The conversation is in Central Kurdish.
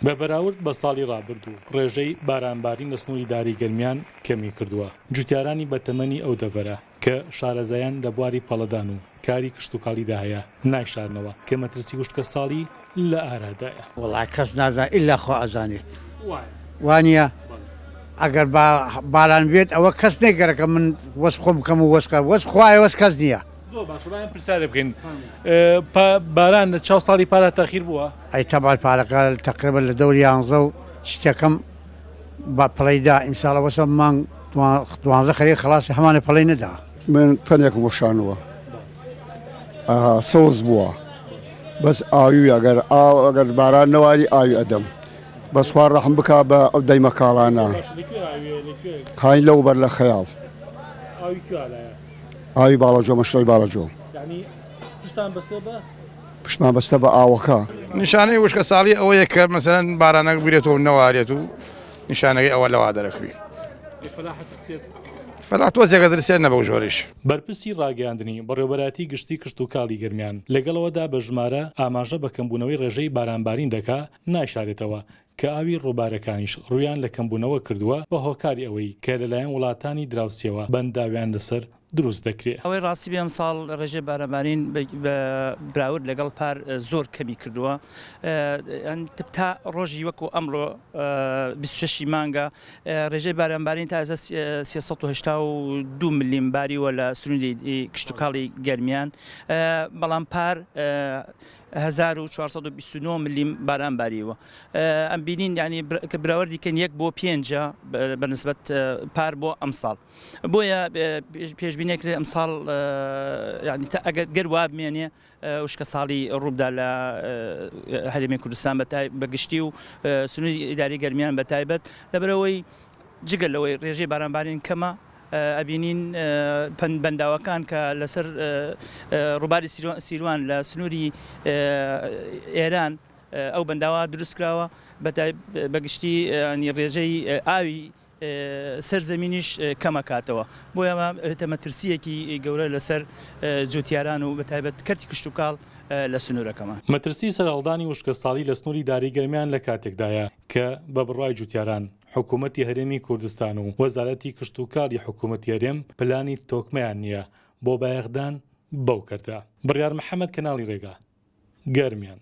بە بەراورد بە ساڵی ڕابردوو، ڕێژەی بارانبارین لە سنووری داری گەرمیان کەمی کردووە. جوتیارانی بەتەمەنی ئەو دەڤەرە، کە شارەزایان لە بواری پەڵەدان و کاری کشتوکاڵیدا هەیە، نایشارنەوە کە مەترسی وشکەساڵی لە ئارادایە. وەڵا کەس نازانێت ئیلا خوا ئەزانێت وانیە ئەگەر با باران بێت ئەوە کەس نەیگەرەکە من وەس خۆم بکەم و وەس وەس خوایە وەس کەس نییە. زۆر باشە با ئێمە پرسیارێ بکەین باران لە چاو ساڵی پارا تەخیر بووە؟ ئەی تەبعەن پارەکە تەقریبەن لە دەوری یانزە و شتەکەم بە پڵەی دا ئیمساڵ ئەوەسە مانگ دوانزە خەریک خەڵاسی هەمانە پڵەی نەدا. من تەنێکم وەشانووە سەوز بووە بەس ئاوی ئەگەر ئاو ئەگەر باران نەواری ئاوی ئەدەم بەس خوا ڕەحم بکا بە ئەو دەیمە کاڵانە هاین لەو بەر لە خەیاڵ ئاوی باڵەجۆ مەشرۆی باڵەجۆ پشتمان بەستە بە ئاوەکە. نیشانەی وشکە ساڵی ئەوەیە کە مەسەلەن بارانەک بگرێتەوە و نەوارێت و نیشانەکەی ئەوە لەوا دەرەکوی. فەلاح تۆزێکە درسێت نە بەو ژۆریش. بەرپرسی ڕاگەیاندنی بەڕێوەبەرایەتی گشتی کشتوکاڵی گەرمیان، لەگەڵ ئەوەدا بە ژمارە ئاماژە بە کەمبوونەوەی ڕێژەی بارانبارین دەکا، نایشارێتەوە کە ئاوی ڕووبارەکانیش ڕوویان لە کەمبوونەوە کردووە بە هۆکاری ئەوەی کە لەلایەن وڵاتانی دراوسێوە بەنداویان لەسەر دروست دەکرێ. ئەوەی ڕاستی بێ ئەمساڵ ڕێژەی بارانبارین بە براورد لەگەڵ پار زۆر کەمی کردووە تا ڕۆژی وەکو ئەمڕۆ 26 ی مانگە ڕێژەی بارانبارین تا ئێستا 382 ملیم باریوە لە سنووری کشتوکاڵی گەرمیان بەڵام پار 1429 ملیم باران باریوە ئەم بینین یعنی کە براوردی کەن یەک بۆ پێنجە بە نسبەت پار بۆ ئەمساڵ بۆیە پێشبینی کرێ ئەمساڵ یعنی تا ئەگەر گەر وا بمێنێ وشکە ساڵی ڕووبدا لە هەرێمی کوردستان بە گشتی و سنووری ئیداری گەرمیان بە تایبەت لەبەرئەوەی جگە لەوەی ڕێژەی بارانبارین کەمە ئەبینین بەنداوەکان کە لەسەر ڕووباری سیروان لە سنووری ئێران ئەو بەنداوە دروستکراوە بە گشتی ڕێژەی ئاوی سەر زەمینیش کەمەکاتەوە بۆیە ئەمە ئەبێتە مەترسییەکی گەورە لەسەر جوتیاران و بەتایبەت کەرتی کشتوکاڵ لە سنوورەکەمان. مەترسی سەرهەڵدانی وشکەساڵی لە سنووری داری گەرمیان لە کاتێکدایە کە بە بڕوای جوتیاران حکوومەتی هەرێمی کوردستان و وەزارەتی کشتوکاڵی حکوومەتی هەرێم پلانی تۆکمەیان نییە بۆ بایەخدان بەو کەرتە. بڕیار محەمەد کەناڵی رێگا، گەرمیان.